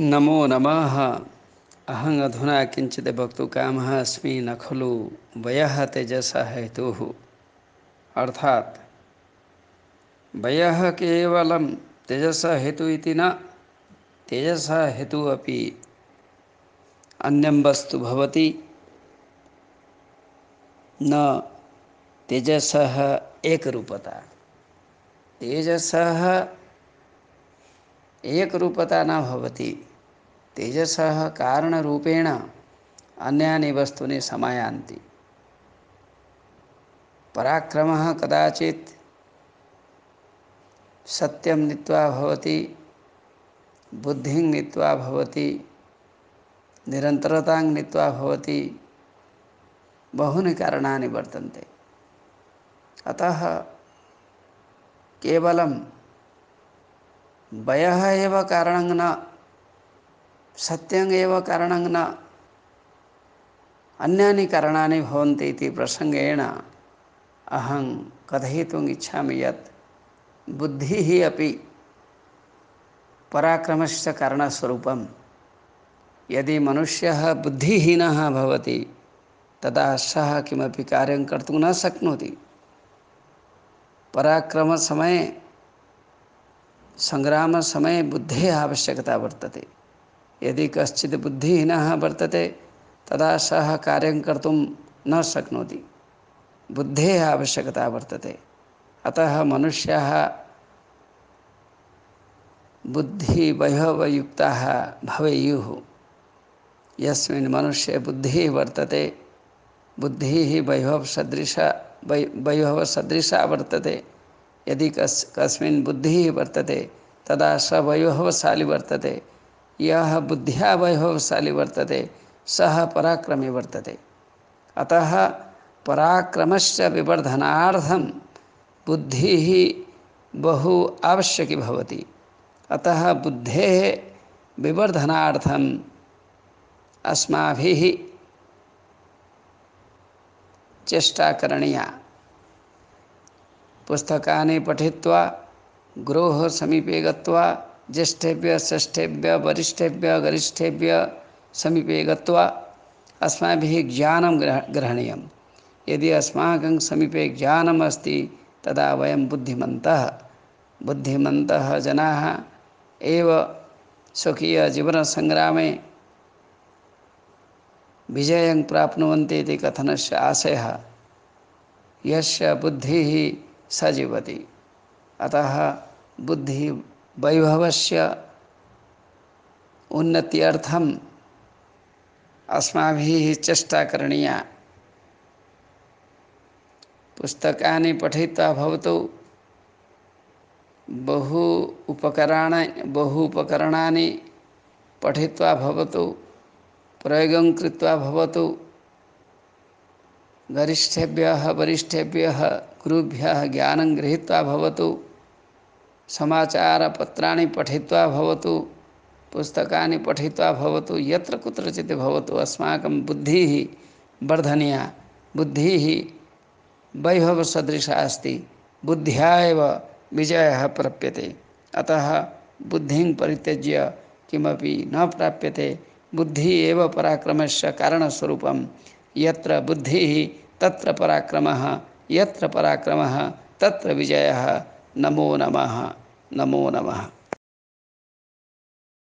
नमो नमः। अहं अधुना किञ्चित् वक्तुकामः अस्मि। न खलु वयः तेजसः हेतुः। अर्थात् वयः केवलं तेजसः हेतुः इति न, तेजसः हेतुः अपि अन्यं वस्तु भवति। न तेजसः एकरूपता, तेजसः एकरूपता न भवति। तेजसः कारणरूपेण अन्यानि वस्तूनि समायान्ति। पराक्रमः कदाचित् सत्यं नीत्वा भवति, बुद्धिं नीत्वा भवति, निरन्तरतां नीत्वा भवति। बहूनि कारणानि वर्तन्ते। अतः केवलं वयः एव कारणं न, सत्यम् एव कारणं न, अन्यानि कारणानि भवन्ति इति प्रसङ्गेन अहं कथयितुम् इच्छामि यत् बुद्धिः अपि पराक्रमस्य कारणस्वरूपं। यदि मनुष्यः बुद्धिहीनः भवति तदा सः किमपि कार्यं कर्तुं न शक्नोति। पराक्रमसमये, सङ्ग्रामसमये बुद्धेः आवश्यकता वर्तते। यदि कश्चित् बुद्धिहीनः वर्तते तदा सः कार्यं कर्तुं न शक्नोति। बुद्धेः आवश्यकता वर्तते। अतः मनुष्याः बुद्धिवैभवयुक्ताः भवेयुः। यस्मिन् मनुष्ये बुद्धिः वर्तते, बुद्धिः वैभवसदृशा वर्तते। यदि कस्मिन् बुद्धिः वर्तते तदा स वैभवशाली वर्तते। यः बुद्ध्या वैभवशाली वर्तते सः पराक्रमी वर्तते। अतः पराक्रमस्य विवर्धनार्थं बुद्धिः बहु आवश्यकी भवति। अतः बुद्धेः विवर्धनार्थम् अस्माभिः चेष्टा करणीया। पुस्तकानि पठित्वा गुरोः समीपे गत्वा ज्येष्ठेभ्यः श्रेष्ठेभ्यः वरिष्ठेभ्यः गरिष्ठेभ्यः समीपे गत्वा अस्माभिः ज्ञानं ग्रहणीयं। यदि अस्माकं समीपे ज्ञानम् अस्ति तदा वयं बुद्धिमन्तः जनाः एव स्वकीयजीवनसङ्ग्रामे विजयं प्राप्नुवन्ति इति कथनस्य आशयः। यस्य बुद्धिः स जीवति। अतः बुद्धिवैभवस्य उन्नत्यर्थम् अस्माभिः चेष्टा करणीया। पुस्तकानि पठित्वा भवतु, बहु उपकरणानि पठित्वा भवतु, प्रयोगं कृत्वा भवतु, गरिष्ठेभ्यः वरिष्ठेभ्यः गुरुभ्यः ज्ञानं गृहीत्वा भवतु, समाचारपत्राणि पठित्वा भवतु, पुस्तकानि पठित्वा भवतु, यत्र कुत्रचित् भवतु, अस्माकं बुद्धिः वर्धनीया। बुद्धिः वैभवसदृशा अस्ति। बुद्ध्या एव विजयः प्राप्यते। अतः बुद्धिं परित्यज्य किमपि न प्राप्यते। बुद्धिः एव पराक्रमस्य कारणस्वरूपं। यत्र बुद्धिः तत्र पराक्रमः, यत्र पराक्रमः तत्र विजयः। नमो नमः। नमो नमः।